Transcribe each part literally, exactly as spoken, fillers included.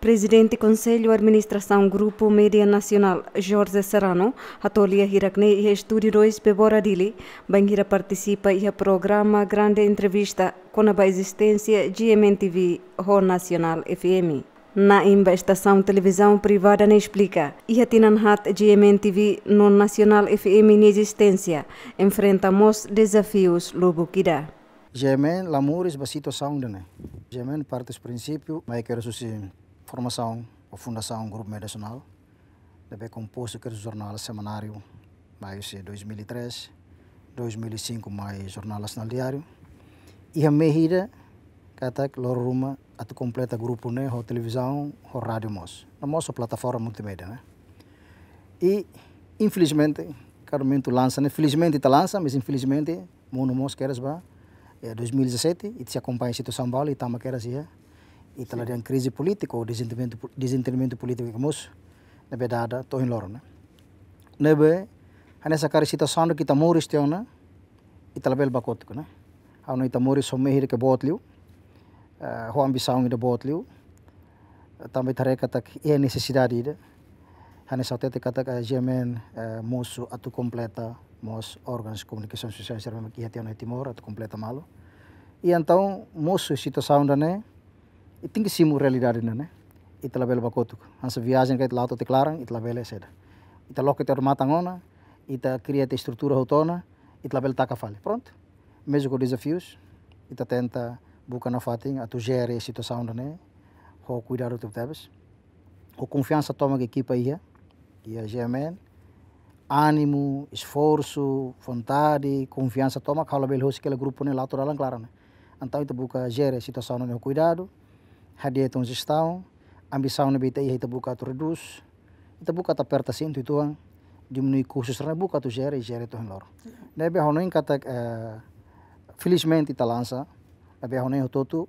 Prezidente Konsellu Administrasaun Grupu Média Nasionál, Jorge Serrano, hato'o lia hirak-ne'e iha Estúdiu dois Bebora Dili, bainhira partisipa iha programa Grande Entrevista kona-ba ezisténsia G M N T V ho Nasionál F M. Na'in ba estasaun televizaun privada ne'e esplika, iha tinan haat G M N T V no Nasionál F M nia ezisténsia enfrenta mós dezafius lubuk ida. G M N la moris ba situasaun ida-ne'e. G M N parte husi prinsípiu, mai kedas husi formasaun ou fundasaun Grupu Média Nasionál, ne'ebé kompostu kedas jornál semanáriu, mai husi dois mil e três, dois mil e cinco mai jornál Nasionál Diáriu. Iha mehi ida, katak loron ruma atu kompleta grupu ne'e ho televizaun, ho rádiu mós. No mós ho plataforma multimédia, né? I, infelizmente, kada momentu lansa, né? Felizmente ita lansa, mas infelizmente, mundu mós kedas ba, eh, dois mil e dezassete, ita sei akompaña situasaun balu, ita tama kedas iha, ita la dehan krize polítiku ou dezentendimentu po-, dezentendimentu polítiku ke mós, ne'ebé dada to'o ohin loron, né? Ne'ebé, hanesan karik situasaun ida ke ita moris tiha ona, ita labele ba kotuk, né? Ha'u hanoin ita moris ho mehi ida ke boot liu, eh, ho ambisaun ida boot liu, tanba ita haree katak iha nesesidade ida. Hanesan hatete katak, eh, G M N, eh, mosu atu kompleta mós órgaun komunikasaun sosiál sira mak iha tiha ona iha Timor atu kompleta malu. I entaun mosu situasaun ida-ne'e, i tenke simu realidade ida-ne'e, né? Ita labele ba kotuk. Hanesan viajen karik ita la'o to'o iha klaran, ita labele saida. Ita loke tiha ona matan ona, ita kria tiha estrutura hotu ona, ita labele taka fali. Prontu. Mezmu ho dezafius, ita tenta buka nafatin atu jere situasaun ida-ne'e ho kuidadu tebetebes. Ho konfiansa tomak ekipa iha, iha G M N, ánimu, esforsu, vontade, konfiansa tomak, ha'u labele husik hela grupu ne'e la'o to'o dalan klaran, né? Entaun ita buka jere situasaun ne'e ho kuidadu, hadi'a tiha ona jestaun, ambisaun ne'ebé ita iha ita buka atu redús, ita buka atu aperta asentu uitoan, diminui kustu sira-ne'e, buka atu jere, jere to'o ohin loron. Ne'ebé ha'u hanoin katak, eh, felizmente ita lansa, ne'ebé ha'u hanoin hotu-hotu,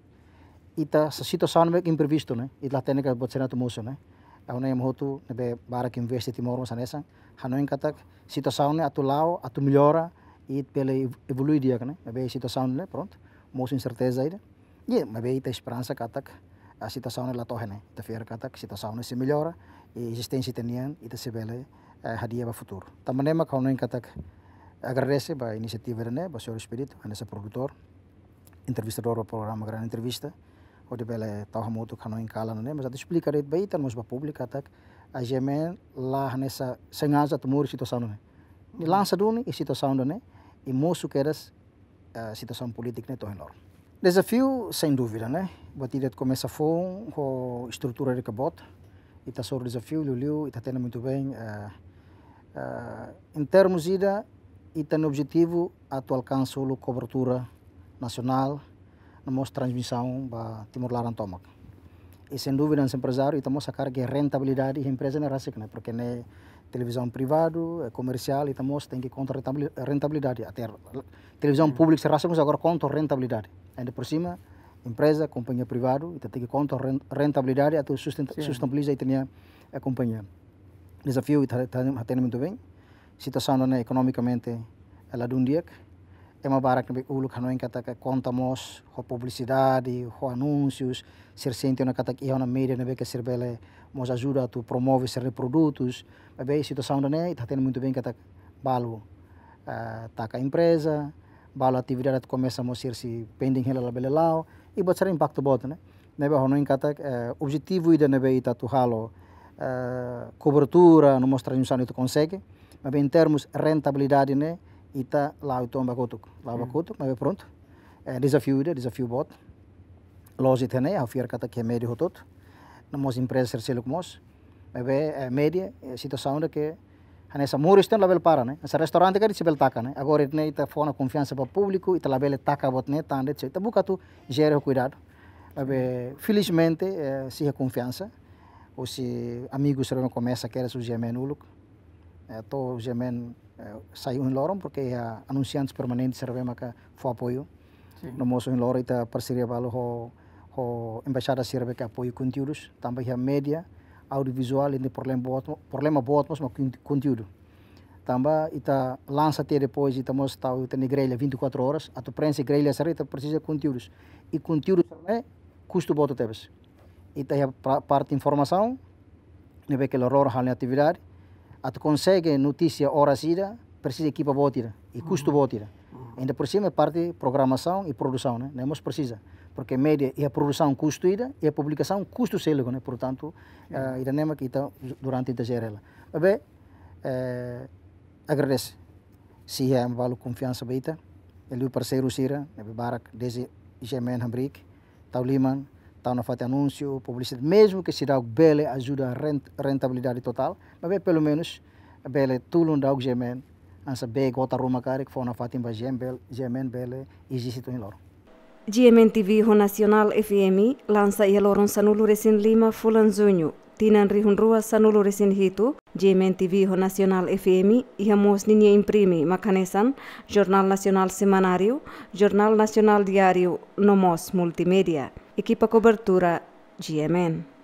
ita sa situasaun ne'ebé imprevistu, né? Ita la hatene katak buat sira-ne'e atu mosu, né? Ha'u hanoin ema hotu ne'ebé barak investe Timor mós hanesan, hanoin katak situasaun ne'e atu la'o, atu mellora, i bele ev-, evolui di'ak, né? Ne'ebé situasaun ne'e, prontu, mosu inserteza ida. Iha, maibé ita esperansa katak, ah, situasaun ne'e la to'o iha ne'e. Ita fiar katak situasaun ne'e sei mellora, i ezisténsia ita-nian, ita sei bele, eh, hadi'a ba futuru. Tanba ne'e mak ha'u hanoin katak agradese ba inisiativa ida-ne'e, ba señór Expedito, hanesan produtór, entrevistadór ba programa Grande Entrevista, hodi bele tau hamutuk hanoin kalan ne'e, mas atu esplika de'it ba ita, mós ba públiku katak, G M N la hanesan sengaja atu moris situasaun ne'e. Nia lansa duni iha situasaun ida-ne'e, i mosu kedas, eh, situasaun polítika ne'e to'o ohin loron. Dezafiu, sem dúvida, né? Buat ida atu komesa foun, ho estrutura ida ke boot, ita hasoru dezafiu, liuliu, ita hatene muitu bein, eh, eh, em termos ida, ita-nia objetivu atu alkansa uluk kobertura nasionál, no mós transmisaun ba Timor laran tomak. I sem dúvida, hanesan emprezáriu, ita mós hakarak rentabilidade iha empreza ne'e rasik, né? Porque ne'e televizaun privadu, eh, komersiál, ita mós tenke konta rentabili-, rentabilidade. Até televizaun públika sira rasik mós agora konta rentabilidade. Ainda por cima, empreza, kompañia privadu, ita tenke konta ren-, rentabilidade atu sustenta-, sustentabiliza ita-nia, eh, kompañia. Dezafiu ita, ita, ita hatene muitu bein. Situasaun ne'e ekonomikamente, eh, ladún di'ak. Ema barak ne'ebé uluk hanoin katak konta mós ho publisidade, ho anúnsius, sira sente ona katak iha ona média ne'ebé ke sira bele mós ajuda atu promove sira-nia produtus. Maibé situasaun ida-ne'e, ita hatene muitu bein katak balu, eh, taka empreza, balu atividade atu komesa mós sira sei pending hela labele la'o, i buat sira impaktu boot, né? Ne'ebé ha'u hanoin katak, eh, objetivu ida ne'ebé ita atu halo, eh, kobertura, no mós transmisaun ita konsege, maibé em termos rentabilidade ne'e, ita la'o uitoan ba kotuk, la'o ba kotuk, maibé prontu. Eh, dezafiu ida, dezafiu boot. Loos ita-nia, ha'u fiar katak iha média hotu-hotu. No mós empreza sira seluk mós. Maibé, eh, média, eh, situasaun ida ke hanesan moris tiha ona labele para, né? Hanesan restaurante karik sei bele taka, né? Agora ne'e ita fó ona konfiansa ba públiku, ita labele taka buat ne'e, tanba ita buka atu jere ho kuidadu. Maibé, felizmente, eh, sei iha konfiansa. Husi amigu sira komesa kedas husi G M N uluk. Eh, to'o G M N, eh, sai ohin loron, porque iha anunsiantes permanentes sira maka fó apoiu. Sin. No mós ohin loron ita parseria balu ho, ho embaixada sira ke apoiu konteúdus, tanba iha média, audiovizuál, iha problema boot, problema boot mós mak kon-, konteúdu. Tanba ita lansa tiha depois, ita mós tau ita-nia grella vinte e quatro horas, atu prenxe grella sira ita presiza konteúdus. I konteúdu sira-ne'e kustu boot tebes. ita iha pra-, parte informasaun, ne'ebé ke loroloron halo nia atividade, atu konsege notísia oras ida, presiza ekipa boot ida, i kustu boot ida. Ainda por cima parte programasaun i produsaun, ne'e? Ne'e mós presiza. Porque média iha produsaun kustu ida, iha publikasaun kustu seluk, ne'e? Portantu, eh, ida-ne'e mak ita durante ita jere hela. Maibé, eh, agradese. Sei iha ema balu konfiansa ba ita, liuliu parseiru sira, ne'ebé barak, dezde GMN hamriik, tau liman, tau nafatin anúnsiu, publisidade, mezmu ke seidauk bele ajuda rent-, rentabilidade totál, maibé pelumenus bele tulun daudaun GMN, hanesan bee gota ruma karik, fó nafatin ba GMN bel-, GMN bele eziste to'o ohin loron. GMN TV ho Nasionál FM lansa iha loron sanulu-resin-lima fulan Juñu, tinan rihun rua sanulu-resin-hitu. GMN TV ho Nasionál FM iha mós ninia imprime mak hanesan Jornál Nasionál Semanáriu, Jornál Nasionál Diáriu, no mós multimédia. Ekipa kobertura GMN.